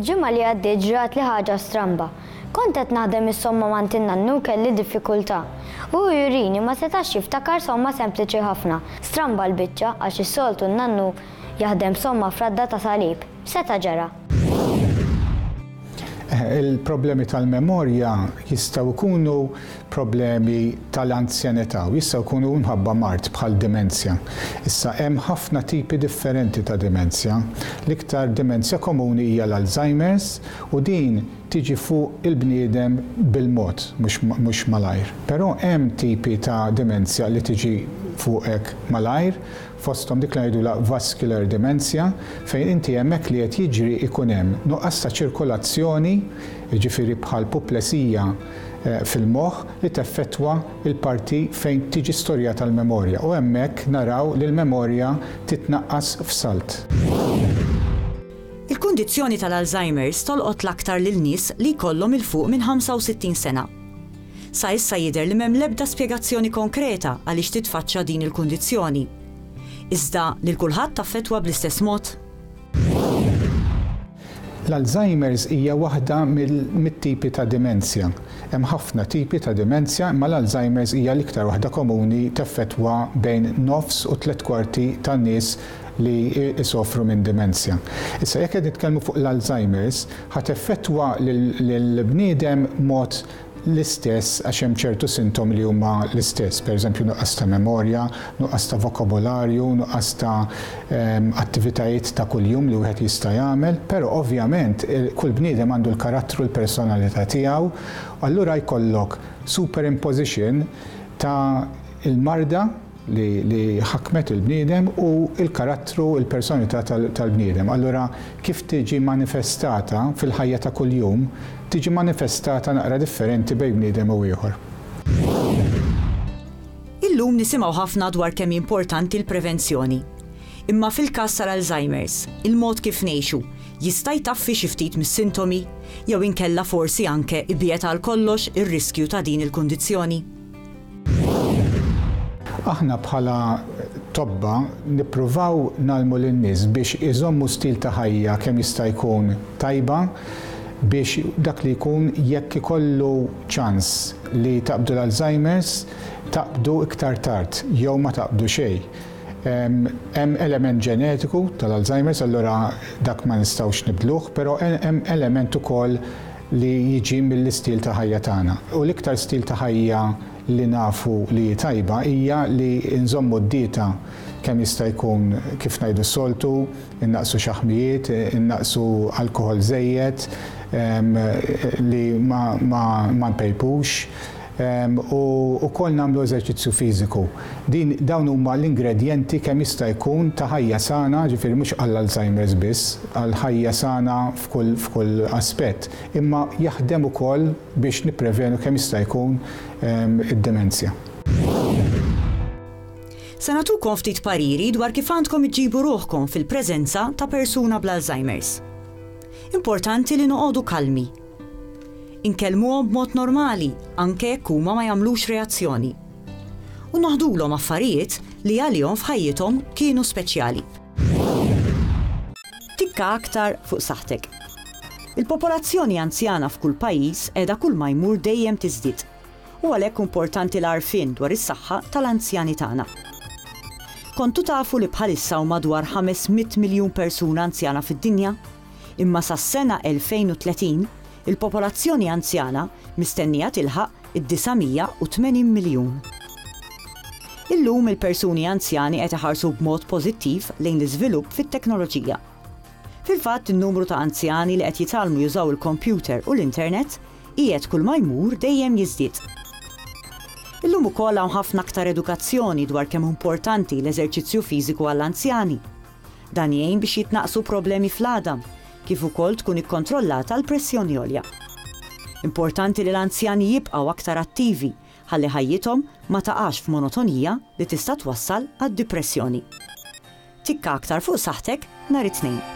Il-ġimgħa li għaddiet ġratli ħaġa stramba. Kont qed naħdem is-somma m'għand in-nannu u kelli diffikultà. Hu jurini ma setax jiftakar somma sempliċi ħafna. Stramba l-biċċa għax is-soltu n-nannu jaħdem somma f'radda ta' salib. X'seta' ġara? Il-problemi tal-memorja jistgħu jkunu problemi tal-anzjanità u jistgħu jkunu minħabba mard bħal dimenzja. Issa hemm ħafna tipi differenti ta' dimenzja. L-iktar dimenzja komuni hija l-Alzheimer's u din tiġi fuq il-bniedem bil-mod, mhux malajr. Però hemm tipi ta' dimenzja li tiġi fuqek malajr, fosthom dik li ngħidulha vascular dementia, fejn inti hemmhekk li qed jiġri jkun hemm nuqqas ta' ċirkolazzjoni, jiġifieri bħal puplesija fil-moħħ li teffettwa l-parti fejn tiġi storjata l-memorja u hemmhekk naraw li l-memorja titnaqqas f'salt. Il-kundizzjoni tal-Alzheimer's tolqot l-aktar lil nies li jkollhom 'il fuq minn 65 sena. Sa issa jidher li m'hemm l-ebda spjegazzjoni konkreta għaliex titfaċċa din il-kundizzjoni. Iżda lil kulħadd taffettwa bl-istess mod? L-Alzheimer's hija waħda mit-tipi ta' dimenzja. Hemm ħafna tipi ta' dimenzja imma l-Alzheimer's hija l-iktar waħda komuni teffettwa bejn nofs u tlett kwarti tan-nies li jsofru minn dimenzja. Issa jekk qed nitkellmu fuq l-Alzheimer's, ħa teffettwa lill-bniedem mod l-istess għax hemm ċertu sintomi li huma l-istess, pereżempju nuqqas ta' memorja, nuqqas ta' vokabolarju, nuqqas ta' attivitajiet ta' kuljum li wieħed jista' jagħmel, però ovvjament kull bniedem għandu l-karattru, l-personalità tiegħu, allura jkollok superimposition ta' l-marda li li ħakmet il-bniedem u l-karattru, il-personalità tal-bniedem. Allura kif tiġi manifestata fil-ħajja ta' kuljum, tiġi manifestata naqra differenti bejn bniedem u ieħor. Illum nisimgħu ħafna dwar kemm hi importanti l-prevenzjoni. Imma fil-każ tal-Alzheimer's, il-mod kif ngħixu jista' jtaffi xi ftit mis-sintomi jew inkella forsi anke ibiegħed għal kollox ir-riskju ta' din il-kundizzjoni? Aħna bħala tobba nippruvaw ngħallmu lin-nies biex iżommu stil ta' ħajja kemm jista' jkun tajba biex dak li jkun jekk ikollu ċans li taqbdu l-Alzheimer's taqbdu iktar tard jew ma taqbdu xejn. Hemm element ġenetiku tal-Alzheimer's allura dak ma nistgħux nibdluh però hemm element ukoll li jiġi mill-istil ta' ħajja tagħna. U l-iktar stil ta' ħajja li nafu li hi tajba hija li nżommu d-dieta kemm jista' jkun kif ngħidu s-soltu, innaqqsu xaħmijiet, innaqqsu alkoħol żejjed, li ma npejpux, u wkoll nagħmlu eżerċizzju fiżiku. Din dawn huma l-ingredjenti kemm jista' jkun ta' ħajja sana, ġifieri mhux għall-Alzheimer's biss, għal ħajja sana f'kull f'kull aspett, imma jaħdem ukoll biex nipprevenu kemm jista' jkun id-demenzja. Se nagħtukom ftit pariri dwar kif għandkom iġġibu ruħkom fil-preżenza ta' persuna bl-Alzheimer's. Importanti li noqogħdu kalmi. Inkellmuhom b'mod normali anke jekk huma ma jagħmlux reazzjoni. U noħdulhom affarijiet li għalihom f'ħajjithom kienu speċjali. Tikka aktar fuq saħħtek. Il-popolazzjoni anzjana f'kull pajjiż qiegħda kulma jmur dejjem tiżdied u għalhekk importanti l-għarfien dwar is-saħħa tal-anzjani tagħna. Kontu tafu li bħalissa hawn madwar 500 miljun persuna anzjana fid-dinja? Imma sas-sena 2030, il-popolazzjoni anzjana mistennija tilħaq id-980 miljun. Illum il-persuni anzjani qed iħarsu b'mod pożittiv lejn l-iżvilupp fit-teknoloġija. Fil-fatt in-numru ta' anzjani li qed jitgħallmu jużaw il-kompjuter u l-internet qiegħed kulma jmur dejjem jiżdied. Illum ukoll hawn ħafna aktar edukazzjoni dwar kemm hu importanti l-eżerċizzju fiżiku għall-anzjani. Dan jgħin biex jitnaqqsu problemi fl-għadam, kif ukoll tkun ikkontrollata l-pressjoni għolja. Importanti li l-anzjani jibqgħu aktar attivi ħalli ħajjithom ma taqax f'monotonija li tista' twassal għad-dipressjoni. Tikka aktar fuq saħħtek nhar it-Tnejn.